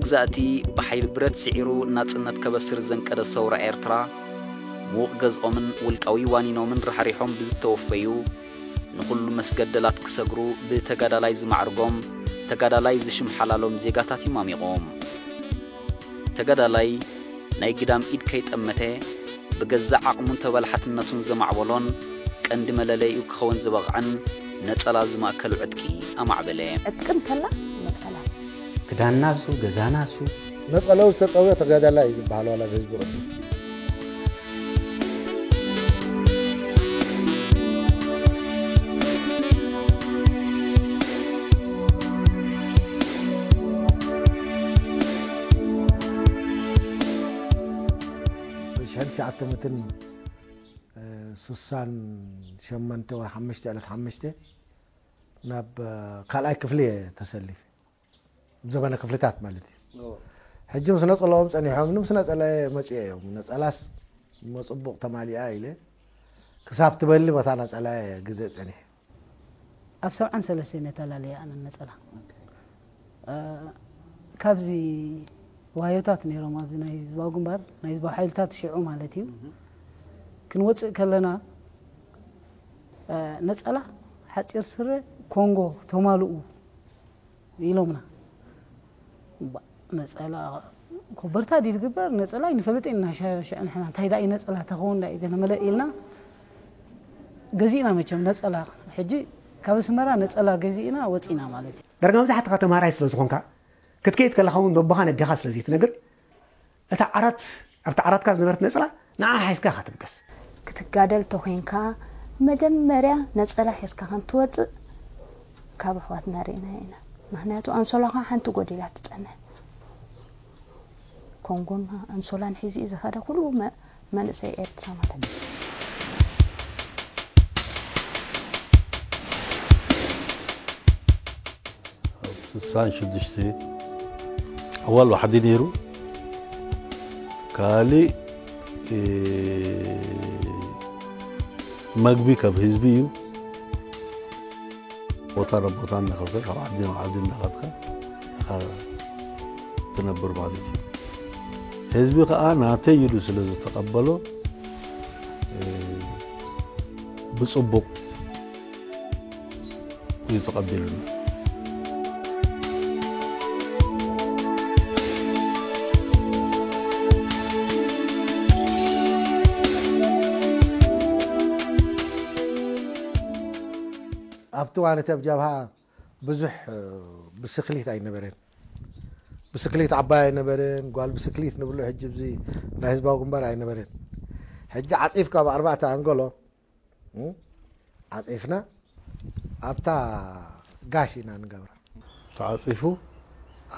መግዛእቲ ብሓይሊ ብረት ስዒሩ ናጽነት ከበስር ዘንቀደ ሰውራ ኤርትራ፣ ምዉቕ ገዝኦምን ውልቃዊ ዋኒኖምን ራሕሪሖም ብዝተወፈዩ፣ ንኹሉ መስገደላት ክሰግሩ ብተጋዳላይ ዝማዕርጎም፣ ተጋዳላይ ዝሽምሓላሎም ዜጋታት እዮም ኣሚቖም። ተጋዳላይ ናይ ግዳም ኢድ ከይጠመተ፣ ብገዛእ ዓቕሙን ተበላሓትነቱን ዘማዕበሎን፣ ቀንዲ መለለይኡ ክኸውን ዝበቕዐን ነጸላ ዝማእከሉ ዕጥቂ ኣማዕበለ። ዕጥቂ እንተላ ነጸላ። ክዳንና እሱ፣ ገዛና እሱ። ነጸላኡ ዝተጠውየ ተጋዳላይ እዩ ዝበሃል ዋላ ብህዝቢ ቅድሚ። ብሽሕን ትሽዓተ ሚእትን ሱሳን ሸሞንተ ወርሒ ሓሙሽተ ዕለት ሓሙሽተ ናብ ካልኣይ ክፍሊ እየ ተሰሊፈ። ዘበነ ክፍልታት ማለት እዩ። ሕጂ ምስ ነጸላኦም ጸኒሖም፣ ምስ ነጸላ መጽየ እዮም። ነጸላስ እሞ ጽቡቕ ተማሊኣ ኢለ ክሳብ ትበሊ በታ ነጸላ ግዜ ጸኒሐ። ኣብ ሰብዓን ሰለስተን እየ ተላልየ ኣነ ነጸላ። እ፣ ካብዚ ዋዮታት ነይሮም ኣብዚ ናይ ህዝባዊ ግንባር፣ ናይ ህዝባዊ ሓይልታት ሽዑ ማለት እዩ። ክንወጽእ ከለና፣ እ፣ ነጸላ፣ ሓጺር ስረ፣ ኮንጎ ተማልኡ ኢሎምና። ባ-፣ ነጸላ ኮበርታ ድዩ ዝግበር? ነጸላ ኣይንፈልጥን ኢና፣ ሸ-፣ ሽዑ ንሕና እንታይ ደኣ እዩ ነጸላ ተኸውን ደኣ እዩ ገለ መለ ኢልና ገዚእና መቸም ነጸላ። ሕጂ ካብ ኣስመራ ነጸላ ገዚእና ወጺና ማለት እዩ። ዳርጋ መብዛሕትኻ ተምሃራይ ስለ ዝኾንካ፣ ክትከይድ ከለኻ እውን ነቦኻን ኣዴኻ ስለ ዘይትነግር፣ እታ ዓራት፣ ኣብታ ዓራትካ ዝነበረት ነጸላ ንዓ ሓይዝካ ኢኻ ትብገስ። ክትጋደል ተኾይንካ መጀመርያ ነጸላ ሒዝካ ከም ትወጽእ ካብ ኣሕዋትና ርኢናዮ ኢና። ምኽንያቱ ኣንሶላኻ ሓንቲ ጎዲላ ትጸንሕ። ኮንጎን ኣንሶላን ሒዙ እዩ ዝኸደ ኩሉ መ-፣ መንእሰይ ኤርትራ ማለት እዩ። ኣብ ስሳን ሽዱሽተ ኣዋል ዋሕዲ ነይሩ። ካሊእ፣ እ፣ መግቢ ካብ ህዝቢ እዩ። ቦታ ናብ ቦታ እናኸድካ፣ ካብ ዓዲ ናብ ዓዲ እናኸድካ ኢኻ ትነብር ማለት እዩ። ህዝቢ ከኣ ናተይ ኢሉ ስለ ዝተቐበሎ፣ እ፣ ብጽቡቕ እዩ ተቐቢሉና። ኣብቲ እዋን እቲ ኣብ ጃብሃ ብዙሕ፣ እ፣ ብስክሊት ኣይነበረን። ብስክሊት ዓባይ ኣይነበረን። ጓል ብስክሊት ንብሎ ሕጂ ኣብዚ ናይ ህዝባዊ ግንባር ኣይነበረን። ሕጂ ዓጺፍካ ኣብ ኣርባዕተ ኣንጎሎ፣ እ፣ ዓጺፍና ኣብታ ጋሽ ኢና ንገብራ። ተዓጺፉ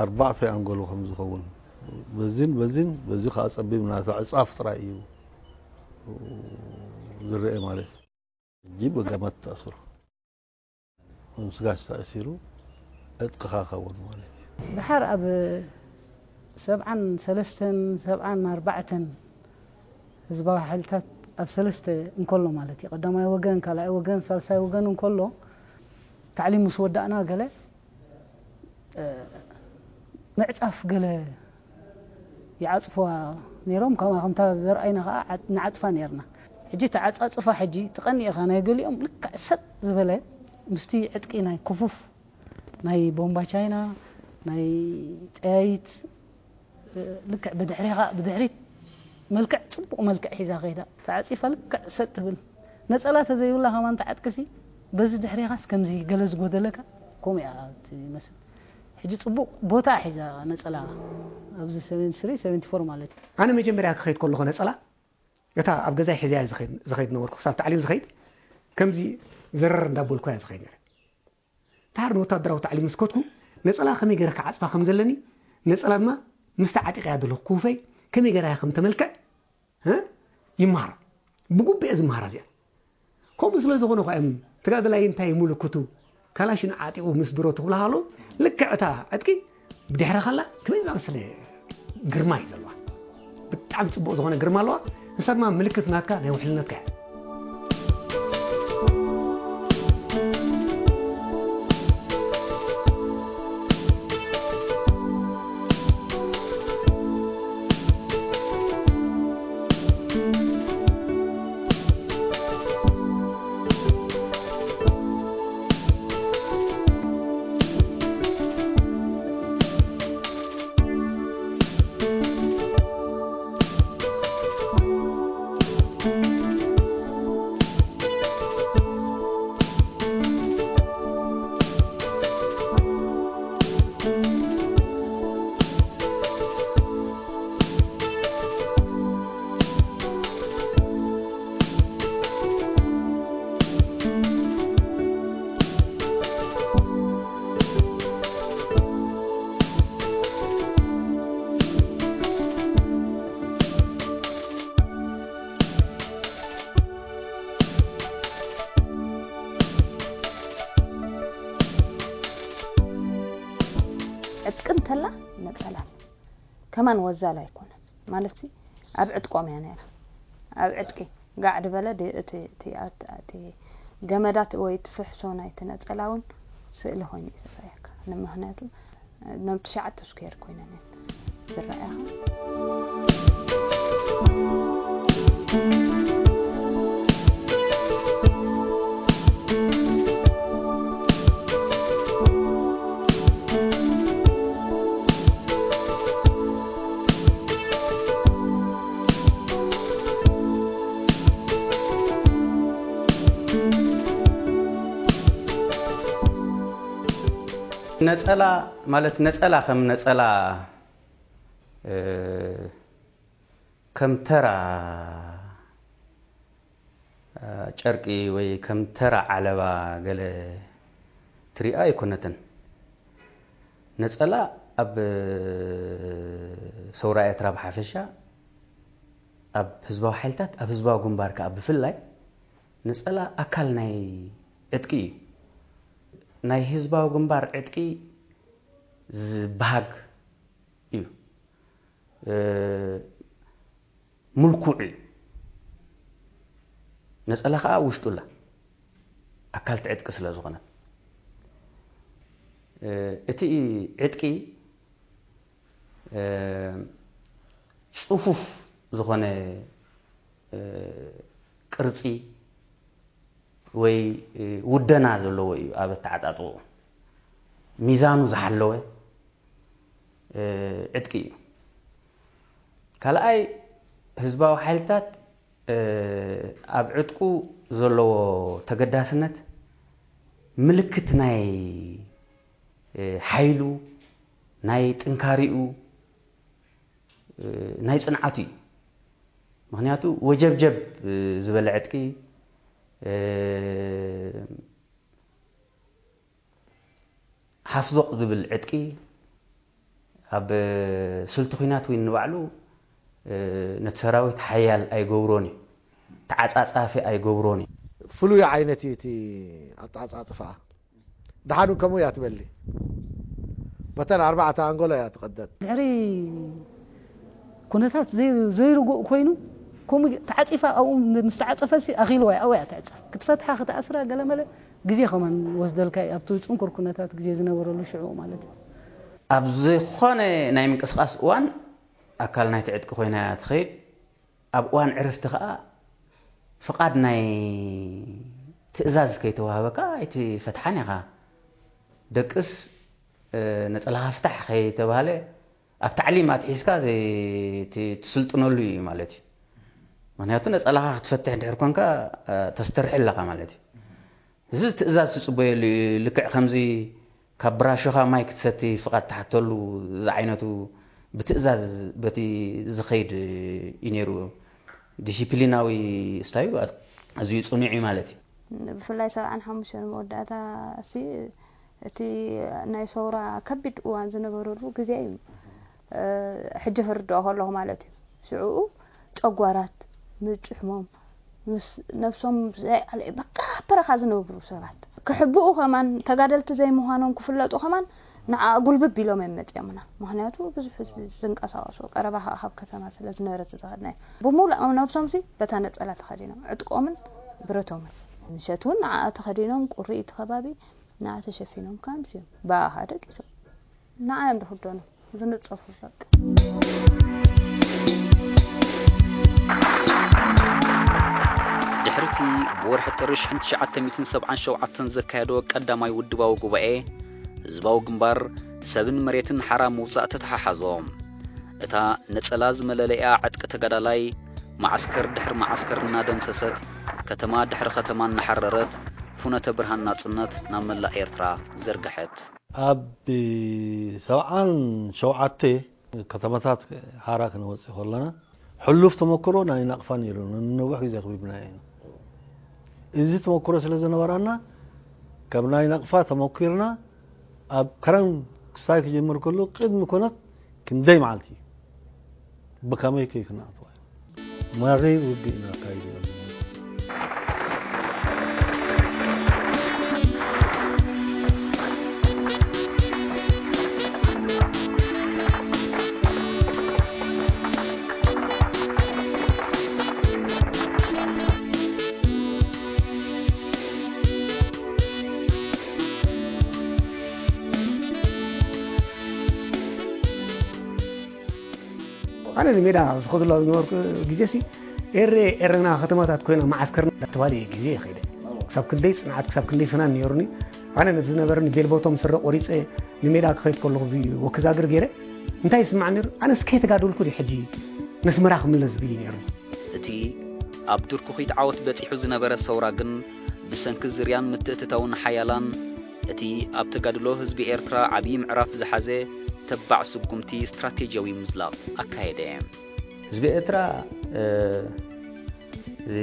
ኣርባዕተ ኣንጎሎ ከም ዝኸውን በዚን በዚን በዚ ከኣ ጸቢብና፣ እቲ ዕጻፍ ጥራይ እዩ ዝረአ ማለት እዩ። ሕጂ ብገመድ ተኣስሩ። ምስ ጋሽ ተኣሲሩ ዕጥቅኻ ከውን ማለት እዩ። ድሓር ኣብ ሰብዓን ሰለስተን ሰብዓን ኣርባዕተን ህዝባዊ ሓይልታት ኣብ ሰለስተ እንከሎ ማለት እዩ። ቀዳማይ ወገን፣ ካልኣይ ወገን፣ ሳልሳይ ወገን እንከሎ ታዕሊም ምስ ወዳእና ገለ፣ እ፣ ምዕጻፍ ገለ ይዓጽፍዋ ነይሮም። ከምኣ ከምታ ዘርኣይና ከኣ ዓጥ-፣ ንዓጽፋ ነይርና። ሕጂ እቲ ዓጻጽፋ ሕጂ ትቐኒ ኢኻ። ናይ ገሊኦም ልክዕ ሰጥ ዝበለ ምስቲ ዕጥቂ ናይ ክፉፍ ናይ ቦምባ ቻይና፣ ናይ ጠያይት፣ እ፣ ልክዕ ብድሕሪኻ፣ ብድሕሪት መልክዕ፣ ጽቡቕ መልክዕ ሒዛ ከይዳ። ተዓጺፋ ልክዕ ሰጥ ትብል። ነጸላ ተዘይብላ ከማን ተዓጥቅሲ፣ በዚ ድሕሪኻስ ከምዚ ገለ ዝጎደለካ፣ ከምኡ እያ ትመስል። ሕጂ ጽቡቕ ቦታ ሒዛ ነጸላ፣ ኣብዚ ሰቨንቲ ስሪ፣ ሰቨንቲ ፎር ማለት እዩ። ኣነ መጀመርያ ክኸይድ ከለኹ ነጸላ፣ እታ ኣብ ገዛይ ሒዘያ ዝኸይድ፣ ዝኸይድ ነበርኩ። ክሳብ ታዕሊም ዝኸይድ፣ ከምዚ ዘረር እንዳበልኩ እያ ዝኸይድ ነይረ። ድሓር ንወታደራዊ ታዕሊም ምስ ከድኩ፣ ነጸላ ከመይ ገይረ ክዓጽፋ ከም ዘለኒ፣ ነጸላ ድማ ምስቲ ዓጢቐያ ዘለኹ ክውፈይ ከመይ ገይራ እያ ከም ተመልክዕ፣ እ፣ ይመሃራ። ብግቡእ እየ ዝመሃራ እዚኣ። ከምኡ ስለ ዝኾነ እኳ እዮም ተጋደላይ እንታይ ምልክቱ ካላሽን ዓጢቑ ምስ ብረቱ ክብልኻ ከለዉ፣ ልክዕ እታ ዕጥቂ ብድሕረ ከላ ከመይ ዝኣመሰለ ግርማ እዩ ዘለዋ። ብጣዕሚ ጽቡቕ ዝኾነ ግርማ ኣለዋ። ንሳ ድማ ምልክት ናትካ ናይ ውሕልነትካ እያ። ከማን ወዛል ኣይኮነን ማለት ሲ ኣብ ዕጥቆም እያ ነይራ። ኣብ ዕጥቂ ጋዕ ድበለ ድ- እቲ እቲ ኣት- እቲ ገመዳት ወይ እቲ ፍሕሶ ናይቲ ነጸላ እውን ስእሊ ኮይኑ እዩ ዝረኣየካ። ንምኽንያቱ ኖም ትሽዓተ ስኩዌር ኮይነን እየን ዝረኣያኻ። ነጸላ ማለት ነጸላ ከም ነጸላ ከም ተራ ጨርቂ ወይ ከም ተራ ዓለባ ገለ ትሪኣ ኣይኮነትን። ነጸላ ኣብ ሰውራ ኤርትራ ብሓፈሻ ኣብ ህዝባዊ ሓይልታት ኣብ ህዝባዊ ግንባር ከኣ ብፍላይ ነጸላ ኣካል ናይ ዕጥቂ እዩ። ናይ ህዝባዊ ግንባር ዕጥቂ ዝበሃግ እዩ። ምልኩዕ እዩ። ነፀላ ከዓ ውሽጡ ኣላ ኣካል ትዕጥቂ ስለ ዝኾነ እቲ ዕጥቂ ፅፉፍ ዝኾነ ቅርፂ ወይ ውደና ዘለዎ እዩ ኣብ ኣተዓጣጥቕኡ ሚዛኑ ዝሓለወ ዕጥቂ እዩ። ካልኣይ ህዝባዊ ሓይልታት ኣብ ዕጥቁ ዘለዎ ተገዳስነት ምልክት ናይ ሓይሉ ናይ ጥንካሪኡ ናይ ፅንዓቱ እዩ። ምክንያቱ ወጀብጀብ ዝበለ ዕጥቂ ሃፍዞቕ ዝብል ዕጥቂ ኣብ ስልቲ ኲናት እውን ንባዕሉ ነቲ ሰራዊት ሓያል ኣይገብሮን እዩ። ተዓጻጻፊ ኣይገብሮን እዩ። ፍሉይ ዓይነት እዩ እቲ ኣተዓጻጽፍኣ። ደሓን እውን ከምኡ እያ ትበሊ። በተን ኣርባዕተ ኣንጎሎ እያ ትቐደድ። ድሕሪ ኩነታት ዘይርጉእ ኮይኑ ከምኡ ተዓፂፋ ኣብኡ ምስ ተዓፀፈሲ ኣኺልዋ እያ ኣብኡ እያ ትዕፀፍ ክትፈትሓ ክትኣስራ ገለመለ ግዜ ከማን ወስደልካ እዩ ኣብቲ ፅንኩር ኩነታት ግዜ ዝነበረሉ ሽዑ ማለት እዩ። ኣብ ዝኾነ ናይ ምንቅስቃስ እዋን ኣካል ናይቲ ዕጥቂ ኮይና እያ ትኸይድ። ኣብ እዋን ዕርፍቲ ከዓ ፍቓድ ናይ ትእዛዝ ከይተዋህበካ ኣይትፈትሓን ኢኻ። ደቅስ ነፀላኻ ፍታሕ ከይተባህለ ኣብ ታዕሊም ኣትሒዝካ ትስልጥነሉ እዩ ማለት እዩ። ምክንያቱ ነፀላኻ ክትፈትሕ እንድሕር ኮንካ ተስተርሒ ኣለኻ ማለት እዩ። እዚ ትእዛዝ ትፅበየሉ እዩ። ልክዕ ከምዚ ካብ ብራሾኻ ማይ ክትሰቲ ፍቓድ ትሓተሉ ዝዓይነቱ ብትእዛዝ በቲ ዝኸይድ እዩ ነይሩ። ዲሲፕሊናዊ ስታዩ ኣዝዩ ፅኑዕ እዩ ማለት እዩ። ብፍላይ ሰብዓን ሓሙሽተን መወዳእታ ሲ እቲ ናይ ሰውራ ከቢድ እዋን ዝነበረሉ ግዜ እዩ። ሕጂ ክርድኦ ከለኹ ማለት እዩ። ሽዕኡ ጨጓራት፣ ምጭሕሞም፣ ምስ ነብሶም ዘይዓለዩ በቃ በረኻ ዝነብሩ ሰባት ክሕብኡ ከማን ተጋደልቲ ዘይምዃኖም ክፍለጡ ከማን ንዓ ጉልብብ ኢሎም እዮም መፅኦምና። ምክንያቱ ብዙሕ ህዝቢ ዝንቀሳቀሶ ቀረባ ከዓ ካብ ከተማ ስለ ዝነበረት ዝኸድና እዩ። ብሙሉእ ነብሶም ሲ በታ ነፀላ ተኸዲኖም ዕጥቆምን ብረቶምን ምሸት እውን ንዓ ተኸዲኖም ቁሪ እቲ ከባቢ ንዓ ተሸፊኖም ከዓ ምስዮም ብኣኻ ደቂሶም ንዓ እዮም ዝኽደኑ። ዝንፀፉ በቃ። ድሕሪ እቲ ብወርሒ ጥሪ ሽሕን ትሽዓተ ሚእትን ሰብዓን ሸውዓተን ዘካየዶ ቀዳማይ ውድባዊ ጉባኤ፣ ህዝባዊ ግንባር ሰብን መሬትን ሓራ ምውጻእ ተተሓሓዞ። እታ ነጸላ ዝመለለያ ዕጥቂ ተጋዳላይ፣ መዓስከር ድሕሪ መዓስከር እናደምሰሰት፣ ከተማ ድሕሪ ከተማ እናሓረረት፣ ፍኖተ ብርሃን ናጽነት ናብ መላእ ኤርትራ ዘርግሐት። ኣብ ሰብዓን ሸውዓተ ከተማታት ሓራ ክነወፅእ ከለና ሕሉፍ ተመክሮ ናይ ናቕፋ ነይሩ ነንነዊሕ ግዜ ኣኽቢብናዮ ኢና። እዚ ተመክሮ ስለ ዝነበራና ካብ ናይ ናቕፋ ተመኪርና ኣብ ከረን ክስታይ ክጅምር ከሎ ቅድሚ ኩነት ክንደይ መዓልቲ ብከመይ ከይ ክነኣትዋ እዩ። መሪር ውግእ ኢና ኣካይዱ ዘለና። ንሜዳ ኣብ ዝኸድሉ ኣብ ዝነበርኩ ግዜ ሲ ኤረ ኤረና ከተማታት ኮይና መዓስከርና እንዳተባለ እየ ግዜ ይኸይደ። ክሳብ ክንደይ ጽንዓት ክሳብ ክንደይ ፍናን ነይሩኒ። ኣነ ነቲ ዝነበረኒ ቤልቦቶም ስረ ቆሪጸ ንሜዳ ክኸይድ ከለኹ ወክዛግር ገይረ እንታይ ይስማዕ ነይሩ? ኣነስ ከይተጋደልኩ ድዩ ሕጂ ነስመራ ክምለስ ዝብል እዩ ነይሩ። እቲ ኣብ ድርኩኺት ዓወት በጺሑ ዝነበረ ሰውራ ግን ብሰንኪ ዝርያን ምትእትታውን ሓያላን እቲ ኣብ ተጋድሎ ህዝቢ ኤርትራ ዓብዪ ምዕራፍ ዝሓዘ ተባዕ ስጉምቲ ስትራቴጂያዊ ምዝላቕ ኣካየደ። ህዝቢ ኤርትራ እዚ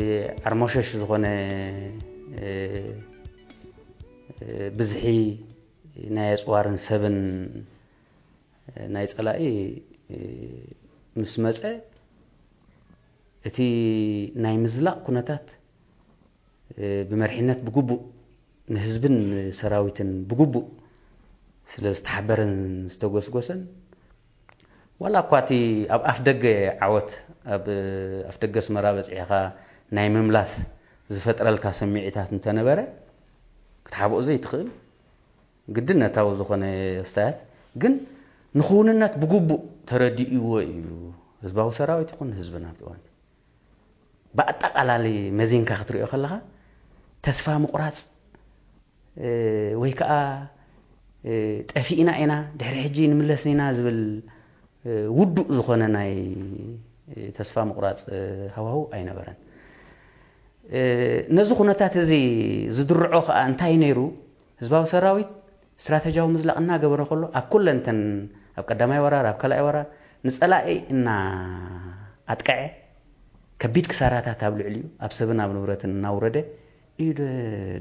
ዓርሞሸሽ ዝኾነ ብዝሒ ናይ ኣፅዋርን ሰብን ናይ ፀላኢ ምስ መፀ እቲ ናይ ምዝላቕ ኩነታት ብመሪሕነት ብግቡእ ንህዝብን ሰራዊትን ብግቡእ ስለ ዝተሓበረን ዝተጎስጎሰን ዋላ እኳ እቲ ኣብ ኣፍ ደገ ዓወት ኣብ ኣፍ ደገ ኣስመራ በፂሕኻ ናይ ምምላስ ዝፈጥረልካ ስምዒታት እንተነበረ ክትሓብኦ ዘይትኽእል ግድነታዊ ዝኾነ ክስታያት ግን ንክውንነት ብግቡእ ተረዲእዎ እዩ ህዝባዊ ሰራዊት ይኹን ህዝብና ኣብቲ እዋንቲ ብኣጠቓላሊ መዚንካ ክትሪኦ ከለኻ ተስፋ ምቑራፅ ወይ ከዓ ጠፊእና ኢና ድሕሪ ሕጂ ንምለስ ኢና ዝብል ውዱእ ዝኾነ ናይ ተስፋ ምቑራፅ ሃዋሁ ኣይነበረን። ነዚ ኩነታት እዚ ዝድርዖ ከዓ እንታይ ነይሩ? ህዝባዊ ሰራዊት ስትራተጂያዊ ምዝላቕ እናገበረ ከሎ ኣብ ኩለን እተን ኣብ ቀዳማይ ወራር ኣብ ካልኣይ ወራር ንፀላኢ እናኣጥቀዐ ከቢድ ክሳራታት ኣብ ልዕሊኡ ኣብ ሰብን ኣብ ንብረትን እናውረደ እዩ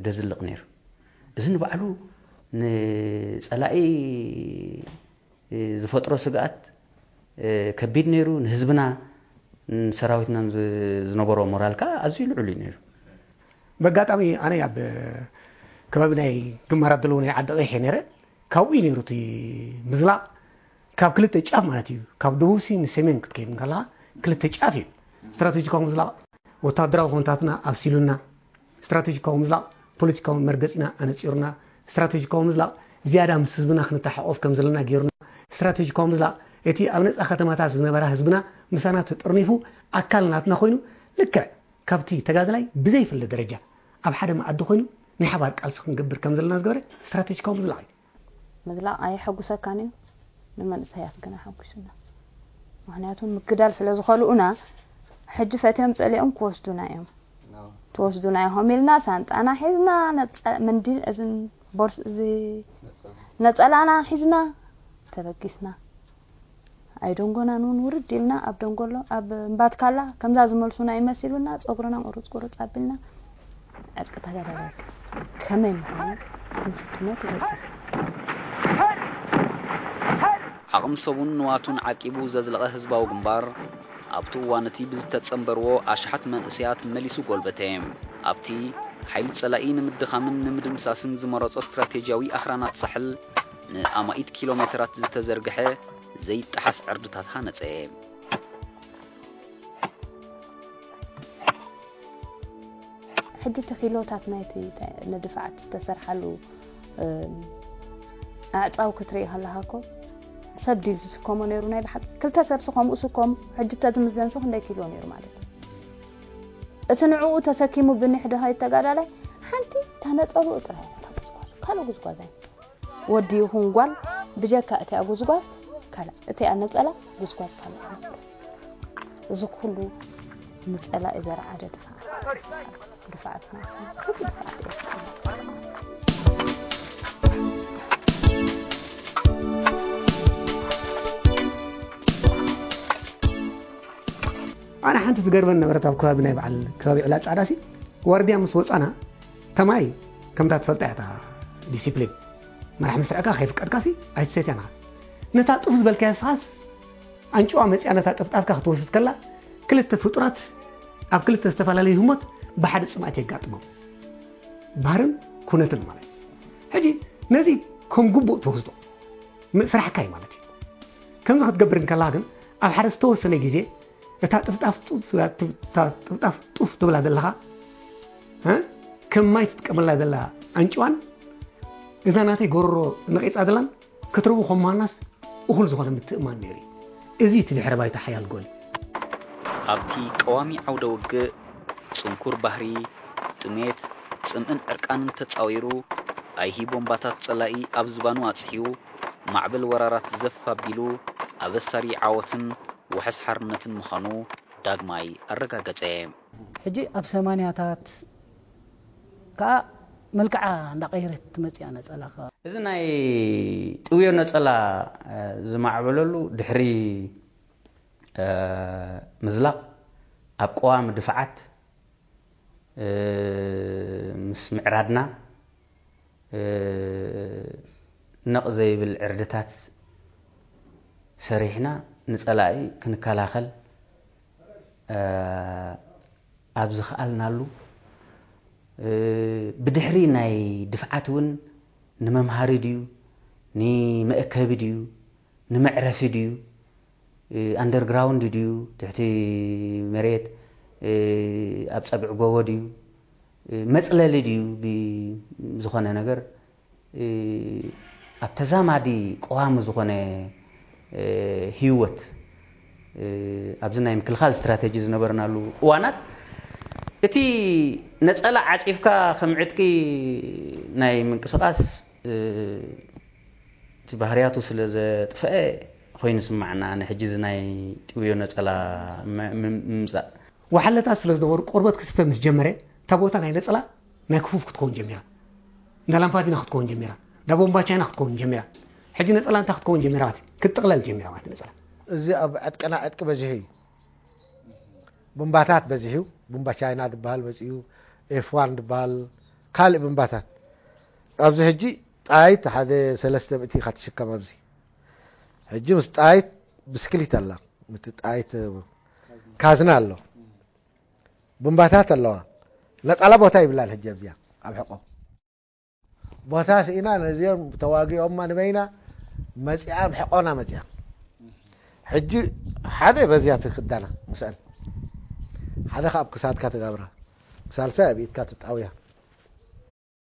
ደዝልቕ ነይሩ። እዚ ንባዕሉ ንፀላኢ ዝፈጥሮ ስግኣት ከቢድ ነይሩ። ንህዝብና ንሰራዊትናን ዝነበሮ ሞራል ከዓ ኣዝዩ ልዑል እዩ ነይሩ። በጋጣሚ ኣነ ኣብ ከባቢ ናይ ግንባራት ዘለዎ ናይ ዓዲ ቀይሕ ነረ ካብኡ እዩ ነይሩ እቲ ምዝላቕ ካብ ክልተ ጫፍ ማለት እዩ ካብ ደቡብ ሲ ንሰሜን ክትከይድ እንከለኻ ክልተ ጫፍ እዩ ስትራቴጂካዊ ምዝላቕ ወታደራዊ ኮንታትና ኣብሲሉና ስትራቴጂካዊ ምዝላቕ ፖለቲካዊ መርገፂና ኣነፂሩና ስትራቴጂካዊ ምዝላቕ ዝያዳ ምስ ህዝብና ክንተሓቆፍ ከም ዘለና ገይሩና ስትራቴጂካዊ ምዝላቕ እቲ ኣብ ነፃ ከተማታት ዝነበራ ህዝብና ምሳና ተጠርኒፉ ኣካል ናትና ኮይኑ ልክዕ ካብቲ ተጋዳላይ ብዘይፍለ ደረጃ ኣብ ሓደ መኣዲ ኮይኑ ናይ ሓባር ቃልሲ ክንገብር ከም ዘለና ዝገበረ ስትራቴጂካዊ ምዝላቕ እዩ። ምዝላቕ ኣየሐጉሰካን እዩ ንመንእሰያት ግን ኣሐጉሱና። ምኽንያቱ ምግዳል ስለ ዝኸልኡና ሕጂ ፈትዮም ጸሊኦም ክወስዱና እዮም። ትወስዱና ኢኹም ኢልና ሳንጣና ሒዝና ነጸ- መንዲል እዝን ቦርስ እዚ ነጸላና ሒዝና ተበጊስና። ኣይደንጎናን እውን ውርድ ኢልና ኣብ ደንጎሎ ኣብ እምባትካላ ከምዛ ዝመልሱና ይመሲሉና ጸጉርና ቁርጽ ቁርጽ ኣቢልና ዕጥቂ ተጋዳላይ ከመይ ምዃኑ ክንፍትኖ ተገዲስና። ዓቕሚ ሰቡን ንዋቱን ዓቂቡ ዘዝለቐ ህዝባዊ ግንባር ኣብቲ እዋን እቲ ብዝተጸንበርዎ ኣሽሓት መንእሰያት መሊሱ ጎልበተ። ኣብቲ ሓይሊ ጸላኢ ንምድኻምን ንምድምሳስን ዝመረጾ ስትራቴጂያዊ ኣኽራናት ሳሕል ንኣማኢት ኪሎ ሜተራት ዝተዘርግሐ ዘይጠሓስ ዕርድታት ሃነጸ። ሕጂ እቲ ኪሎታት ናይቲ ንድፋዓት ዝተሰርሓሉ ኣዕፃው ክትርኢ ከለካ እኮ ሰብ ድዩ ዝስከሞ ነይሩ ናይ ብሓቂ ክልተ ሰብሲ ከምኡ ስከሙ ሕጂ ተዝምዘንሲ ክንደይ ኪሎ ነይሩ ማለት እዩ እቲ ንዕኡ ተሰኪሙ ብኒሕ ድሃይ ተጋዳላይ ሓንቲ ታነፀልኡ ጥራይ ነታ ጉዝጓዝ ካልእ ጉዝጓዝ ኣይ ወዲ ይኹን ጓል ብጀካ እቲኣ ጉዝጓዝ ካልእ እቲኣ ነፀላ ጉዝጓዝ ካልእ ኣይነበረ እዚ ኩሉ ንፀላኢ ዘርዓደ ድፋዓት ድፋዓትና ኩሉ ድፋዓት ኤርትራ ኣነ ሓንቲ ትገርመን ነበረት ኣብ ከባቢ ናይ በዓል ከባቢ ዕላ ጻዕዳሲ ዋርድያ ምስ ወጻና ተማይ ከምታ ትፈልጣ እያ ዲሲፕሊን መራሕ ምስዕካ ከይፍቀድካሲ ኣይትሰትያን ነታ ጡፍ ዝበልካያ ስኻስ ኣንጭዋ መፅያ ነታ ጠፍጣፍካ ክትወስድ ከላ ክልተ ፍጡራት ኣብ ክልተ ዝተፈላለዩ ህሞት ብሓደ ፅምኣት የጋጥሞም ባህርን ኩነትን ማለት ሕጂ ነዚ ከም ግቡእ ትወስዶ ስራሕካ እዩ ማለት እዩ ከምዚ ክትገብር እንከላ ግን ኣብ ሓደ ዝተወሰነ ግዜ እታ ጥፍጣፍ ጥፍጣፍ ጡፍ ትብላ ዘለኻ ከም ማይ ትጥቀመላ ዘላ ኣንጭዋን እዛ ናተይ ጎረሮ ነቂፃ ዘላን ክትርቡ ከም ምዃናስ እኹል ዝኾነ ምትእማን ነይሩ እዩ። እዚ እቲ ድሕረ ባይታ ሓያል ጎል እዩ። ኣብቲ ቀዋሚ ዓውደ ውግእ፣ ጽንኩር ባህሪ፣ ጥሜት፣ ጽምእን ዕርቃንን ተጻዊሩ፣ ኣይሂ ቦምባታት ጸላኢ ኣብ ዝባኑ ኣጽሒዩ፣ ማዕበል ወራራት ዘፍ ኣቢሉ፣ ኣበሳሪ ዓወትን ውሕስ ሓርነትን ምዃኑ ዳግማይ ኣረጋገጸ። ሕጂ ኣብ ሰማንያታት ከዓ መልክዓ እንዳቐየረት ትመፅያ ነፀላ ከዓ። እዚ ናይ ጥውዮ ነፀላ ዝማዕበለሉ ድሕሪ ምዝላቕ ኣብ ቀዋሚ ድፍዓት ምስ ምዕራድና ነቕ ዘይብል ዕርድታት ሰሪሕና ንፀላኢ ክንከላኸል ኣብ ዝኸኣልናሉ ብድሕሪ ናይ ድፍዓት እውን ንመምሃሪ ድዩ ንመእከቢ ድዩ ንመዕረፊ ድዩ ኣንደርግራውንድ ድዩ ትሕቲ መሬት ኣብ ፀግዒ ጎቦ ድዩ መፅለሊ ድዩ ዝኾነ ነገር ኣብ ተዛማዲ ቀዋሚ ዝኾነ ህይወት ኣብዚ ናይ ምክልኻል ስትራተጂ ዝነበርናሉ እዋናት እቲ ነፀላ ዓፂፍካ ከም ዕጥቂ ናይ ምንቅስቃስ እቲ ባህርያቱ ስለ ዘጥፈአ ኮይኑ ስማዕና ንሕጂ እዚ ናይ ጥውዮ ነፀላ ምምፃእ ዋሓለታት ስለ ዝነበሩ ቆርበት ክስተ ምስ ጀመረ እታ ቦታ ናይ ነፀላ ናይ ክፉፍ ክትከውን ጀሚራ። እንዳ ላምፓዲና ክትከውን ጀሚራ። እንዳ ቦምባ ቻይና ክትከውን ጀሚራ። ሕጂ ነፀላ እንታይ ክትከውን ጀሚራ ማለት ክትጥቕለል ጀሚራ ማለት ነፀላ። እዚ ኣብ ዕጥቅና ዕጥቂ በዚሑ እዩ። ቡምባታት በዚሑ ቡምባ ቻይና ዝበሃል መፂኡ ኤፍ ዋን ዝበሃል ካልእ ቡምባታት ኣብዚ ሕጂ ጣይት ሓደ ሰለስተ ሚእቲ ኢኻ ትሽከም ኣብዚ ሕጂ ምስ ጣይት ብስክሊት ኣላ ምት ጣይት ካዝና ኣሎ ቡምባታት ኣለዋ ነፃላ ቦታ ይብላን ሕጂ ኣብዚኣ ኣብ ሕቆ ቦታ ስኢና ነዚኦም ተዋጊኦማ ንበይና መፂኣ ኣብ ሕቆና መፂኣ ሕጂ ሓደ በዚያ ትክዳና ምስአን ሓደ ካብ ክሳድካ ትጋብራ ሳልሳይ ኣብ ኢድካ ትጣውያ